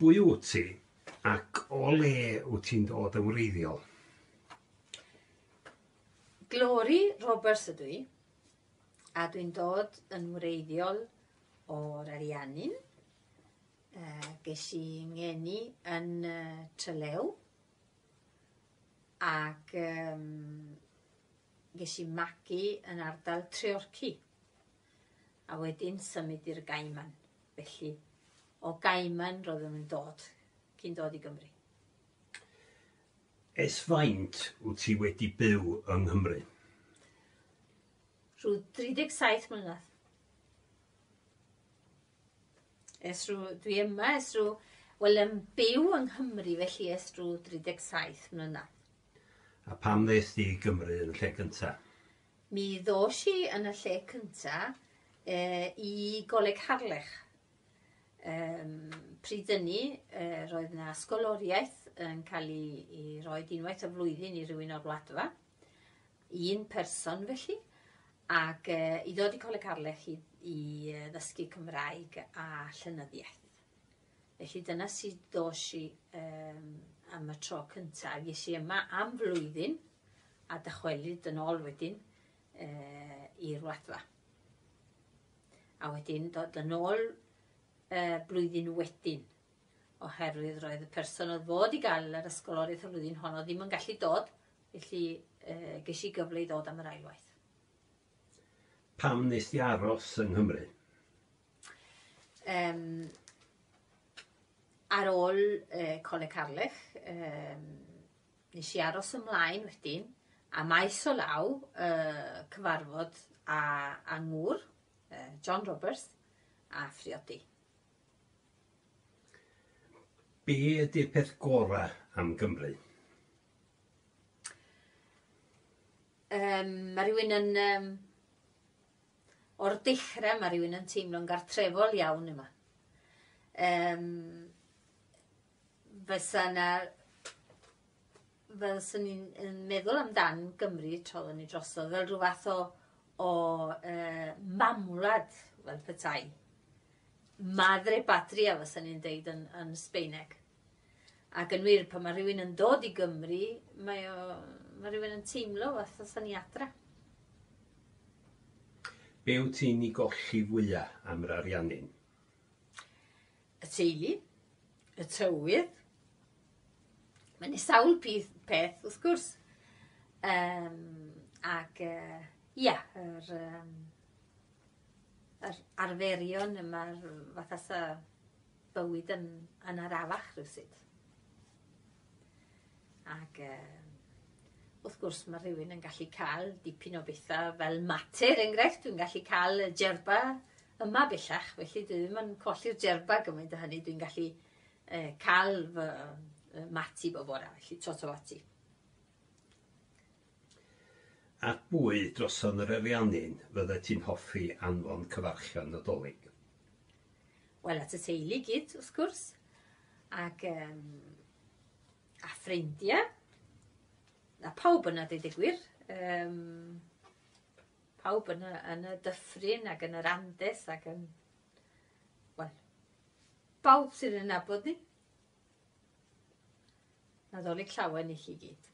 Pwy wyt ti ac o le wyt ti'n dod yn wreiddiol? Glory Roberts ydw i, a dwi'n dod yn wreiddiol o'r Ariannin. Uh, ges i ngeni yn uh, Trelew, ac um, ges i magu yn ardal Treorci, a wedyn symud i'r Gaiman. Felly, o Gaiman roeddwn yn dod cyn dod i Gymru. Ers faint wyt ti wedi byw yng Nghymru? Rhyw 37 mlynedd. Ers rhyw, dwi yma ers rhyw, wel yn byw yng Nghymru felly ers rhyw 37 mlynedd. A pam ddes di i Gymru yn y lle cynta? Mi ddos i yn y lle cynta e, i Goleg Harlech. Um, pryd hynny, e, roedd yna ysgoloriaeth yn cael ei, ei roi unwaith y flwyddyn i rywun o'r wladfa. Un person felly. Ac e, i ddod i Coleg Harlech i, i ddysgu Cymraeg a llenyddiaeth. Felly dyna sut dos i um, am y tro cyntaf. Ges i yma am flwyddyn a dychwelyd yn ôl wedyn uh, i'r wladfa. A wedyn dod yn ôl uh, blwyddyn wedyn oherwydd roedd y person oedd fod i gael yr ysgoloriaeth y flwyddyn honno ddim yn gallu dod, felly uh, ges i gyfle i ddod am yr ailwaith. Pam nes di aros yng Nghymru? Um, ar ôl uh, Coleg Harlech, um, nes i aros ymlaen wedyn, a maes o law uh, cyfarfod a, a ngŵr, uh, John Roberts, a phriodi. Be ydy'r peth gorau am Gymru? Um, mae rhywun yn um, O'r dechrau mae rhywun yn teimlo'n gartrefol iawn yma. Um, fysa na fel swn i'n yn meddwl amdan Gymru tra oedden ni drosodd fel rhyw fath o o uh, mamwlad fel petai. Madre patria fysa ni'n deud yn, yn Sbeineg. Ac yn wir, pan mae rhywun yn dod i Gymru, mae, o, mae rhywun yn teimlo fath o ni adra. Be wyt ti'n ei golli fwya am yr Ariannin? Y teulu, y tywydd. Mae'n sawl peth, peth wrth gwrs. Um, ac, uh, ia, yr, um, yr arferion yma'r fatha sa bywyd yn, yn arafach rhywsut. Ac uh, wrth gwrs mae rhywun yn gallu cael dipyn o bethau fel mate, er enghraifft, dwi'n gallu cael y jerba yma bellach, felly dwi ddim yn colli'r jerba gymaint o hynny, dwi'n gallu uh, cael fy uh, mati bob bora, felly tot o fati. At bwy droson yr Ariannin fyddet ti'n hoffi anfon cyfarchion Nadolig? Wel, at y teulu gyd, wrth gwrs, ac um, a ffrindiau, a pawb yna, dweud y gwir. Um, pawb yn y, yn y dyffryn ac yn yr Andes ac yn... Wel, bawb sydd yn nabod ni. Nadolig llawen i chi gyd.